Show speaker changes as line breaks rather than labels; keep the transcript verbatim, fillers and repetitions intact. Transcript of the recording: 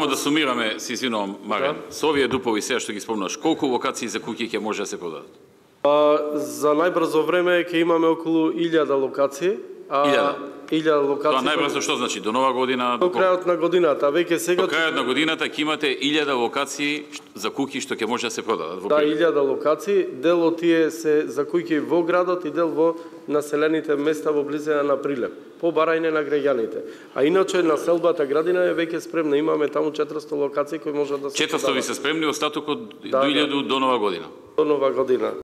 Да сумираме, си извинувам, Марен, да. Со овие дупови сега што ги спомнаш, колку локации за куќи ќе може да се продадат?
А, за најбрзо време ќе имаме околу илјада локации.
Илјада?
Илјада локации.
Тоа најбрзо што значи? До нова година?
До крајот на годината. Веќе сега...
До крајот на годината ќе имате илјада локации за куќи што ќе може да се продадат?
Да, илјада локации. Дел од тие се за куќи во градот и дел во населените места во близина на Прилеп, по барање на граѓаните. А иначе населбата градина е веќе спремна. Имаме таму четиристо локации кои можат да се
четиристо ви се спремни, остатокот
да,
до илјада до нова година?
До нова година.